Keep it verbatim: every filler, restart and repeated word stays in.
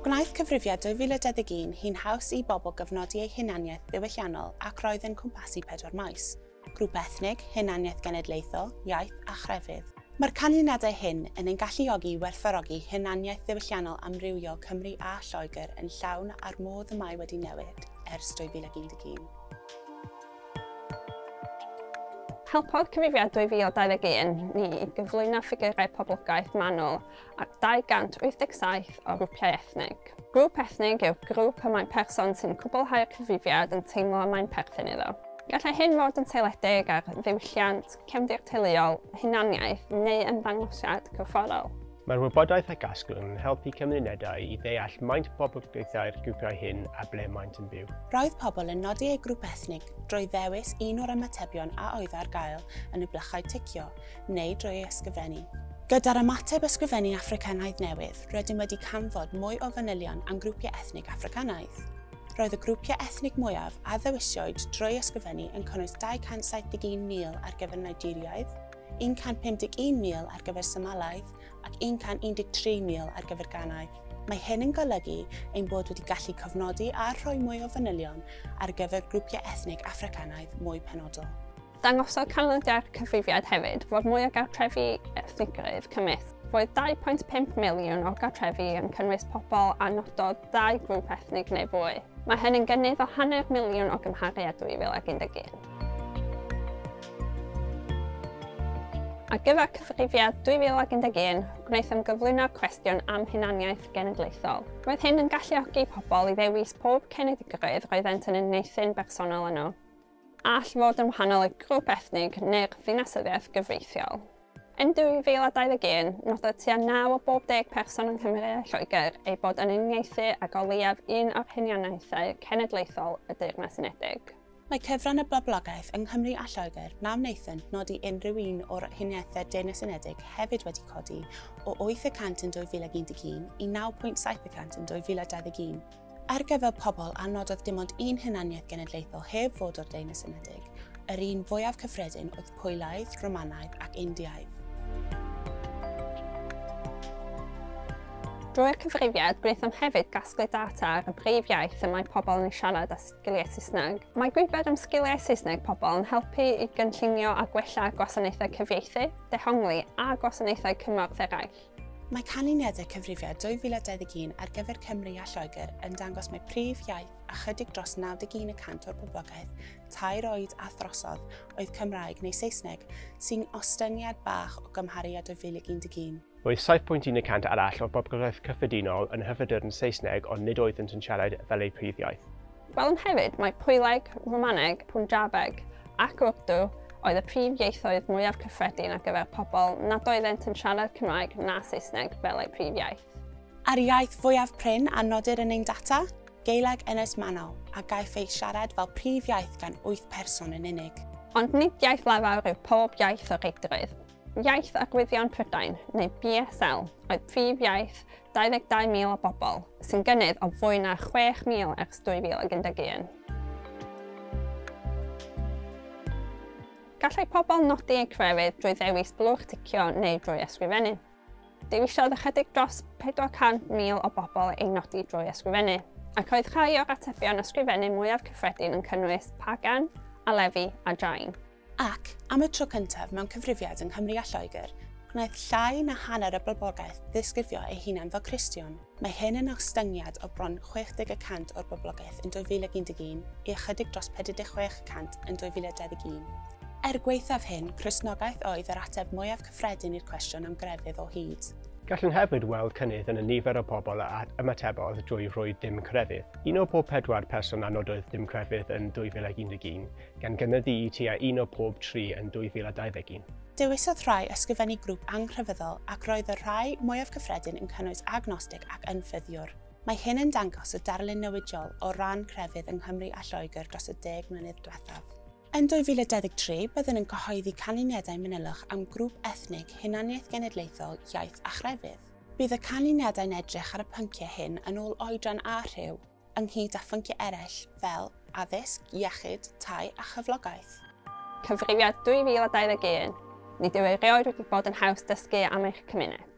Gwnaeth cyfrifiad dwy fil a dau ddeg un hi'n haws i bobl gofnodi eu hunaniaeth ddiwylliannol ac roedd yn cwmpasu pedwar maes: grŵp ethnig, hunaniaeth genedlaethol, iaith a chrefydd. Mae'r canlyniadau hyn yn ein galluogi i werthfawrogi hunaniaeth ddiwylliannol amrywiol Cymru a Lloegr yn llawn a'r modd y mae wedi newid ers dwy fil ac un deg un. Helpodd cyfrifiad dwy fil a dau ddeg un ni i gyflwyno ffigurau poblogaeth manwl ar dau gant wyth deg saith o grwpiau ethnig. Grŵp ethnig yw grŵp y mae person sy'n cwblhau'r cyfrifiad yn teimlo mae'n perthyn iddo. Gallai hyn fod yn seiliedig ar ddiwylliant, cefndir teuluol, hunaniaeth neu ymddangosiad corfforol. Mae'r wybodaeth a gasglwn yn helpu cymunedau i ddeall maint poblogaethau'r grwpiau hyn a ble maent yn byw. Roedd pobl yn nodi eu grŵp ethnig drwy ddewis un o'r ymatebion a oedd ar gael yn y blychau ticio neu drwy ei ysgrifennu. Gyda'r ymateb ysgrifennu Affricanaidd newydd, rydym wedi canfod mwy o fanylion am grwpiau ethnig Affricanaidd. Roedd y grwpiau ethnig mwyaf a ddewisiwyd drwy ysgrifennu yn cynnwys dau cant saith deg un mil ar gyfer Nigeriaidd, un cant pum deg un mil ar gyfer Somalaidd ac un cant un deg tri mil ar gyfer Ghanaidd. Mae hyn yn golygu ein bod wedi gallu cofnodi a rhoi mwy o fanylion ar gyfer grwpiau ethnig Affricanaidd mwy penodol. Dangosodd canlyniadau'r cyfrifiad hefyd fod mwy o gartrefi ethnigrwydd cymysg. Roedd dau pwynt pump miliwn o gartrefi yn cynnwys pobl a nododd dau grŵp ethnig neu fwy. Mae hyn yn gynnydd o hanner miliwn o gymharu â dwy fil ac un deg un. Ar gyfer cyfrifiad dwy fil ac un deg un, gwnaethom gyflwyno'r cwestiwn am hunaniaeth genedlaethol. Roedd hyn yn galluogi pobl i ddewis pob cenedligrwydd roeddent yn uniaethu'n bersonol â nhw, all fod yn wahanol i grŵp ethnig neu'r ddinasyddiaeth gyfreithiol. Yn dwy fil a dau ddeg un, nododd tua naw o bob deg person yng Nghymru a Lloegr eu bod yn uniaethu ag o leiaf un o'r hunaniaethau cenedlaethol y Deyrnas Unedig. Mae cyfran y boblogaeth yng Nghymru a Lloegr na wnaethant nodi unrhyw un o'r hunaniaethau Deyrnas Unedig hefyd wedi codi o wyth y cant yn dwy fil ac un deg un i naw pwynt saith y cant yn dwy fil a dau ddeg un. Ar gyfer pobl a nododd dim ond un hunaniaeth genedlaethol heb fod o'r Deyrnas Unedig, yr un fwyaf cyffredin oedd Pwylaidd, Romanaidd ac Indiaidd. Drwy'r cyfrifiad, gwnaethom hefyd gasglu data ar y brif iaith y mae pobl yn ei siarad a sgiliau Saesneg. Mae gwybod am sgiliau Saesneg pobl yn helpu i gynllunio a gwella gwasanaethau cyfieithu, dehongli a gwasanaethau cymorth eraill. Mae canlyniadau cyfrifiad dwy fil a dau ddeg un ar gyfer Cymru a Lloegr yn dangos mai prif iaith a chydig dros naw deg un y cant o'r boblogaeth tair oed a throsodd oedd Cymraeg neu Saesneg, sy'n ostyngiad bach o gymharu â dwy fil ac un deg un. Roedd saith pwynt un y cant arall o'r boblogaeth cyffredinol yn hyfedr yn Saesneg ond nid oeddent yn siarad fel eu prif iaith. Gwelwn hefyd mai Pwyleg, Romaneg, Punjabeg ac Urdu oedd y prif ieithoedd mwyaf cyffredin ar gyfer pobl nad oeddent yn siarad Cymraeg na Saesneg fel eu prif iaith. A'r iaith fwyaf prin a nodir yn ein data? Gaeleg Ynys Manaw, a gaiff ei siarad fel prif iaith gan wyth person yn unig. Ond nid iaith lafar yw pob iaith o reidrwydd. Iaith Arwyddion Prydain, neu B S L, oedd prif iaith dau ddeg dau mil o bobl, sy'n gynnydd o fwy na chwech mil ers dwy fil ac un deg un. Gallai pobl nodi eu crefydd drwy ddewis blwch ticio neu drwy ysgrifennu. Dewisiodd ychydig dros pedwar cant mil o bobl eu nodi drwy ysgrifennu, ac roedd rhai o'r atebion ysgrifennu mwyaf cyffredin yn cynnwys Pagan, Alefi a Jain. Ac, am y tro cyntaf mewn cyfrifiad yng Nghymru a Lloegr, gwnaeth llai na hanner y boblogaeth ddisgrifio eu hunan fel Cristion. Mae hyn yn ostyngiad o bron chwech deg y cant o'r boblogaeth yn dwy fil ac un deg un i ychydig dros pedwar deg chwech y cant yn dwy fil a dau ddeg un. Er gwaethaf hyn, Cristnogaeth oedd yr ateb mwyaf cyffredin i'r cwestiwn am grefydd o hyd. Gallwn hefyd weld cynnydd yn y nifer o bobl a ymatebodd drwy rhoi dim crefydd. Un o pob pedwar person a nododd dim crefydd yn dwy fil ac un deg un, gan gynyddu i tua un o pob tri yn dwy fil a dau ddeg un. Dewisodd rhai ysgrifennu grŵp anghrefyddol ac roedd y rhai mwyaf cyffredin yn cynnwys agnostig ac ynffyddiwr. Mae hyn yn dangos y darlun newidiol o ran crefydd yng Nghymru a Lloegr dros y deg mlynedd diwethaf. Yn dwy fil a dau ddeg tri, byddwn yn cyhoeddi canlyniadau manylach am grŵp ethnig, hunaniaeth genedlaethol, iaith a chrefydd. Bydd y canlyniadau'n edrych ar y pynciau hyn yn ôl oedran a rhyw, ynghyd â phynciau eraill fel addysg, iechyd, tai a chyflogaeth. Cyfrifiad dwy fil a dau ddeg un. Nid yw erioed wedi bod yn haws dysgu am eich cymuned.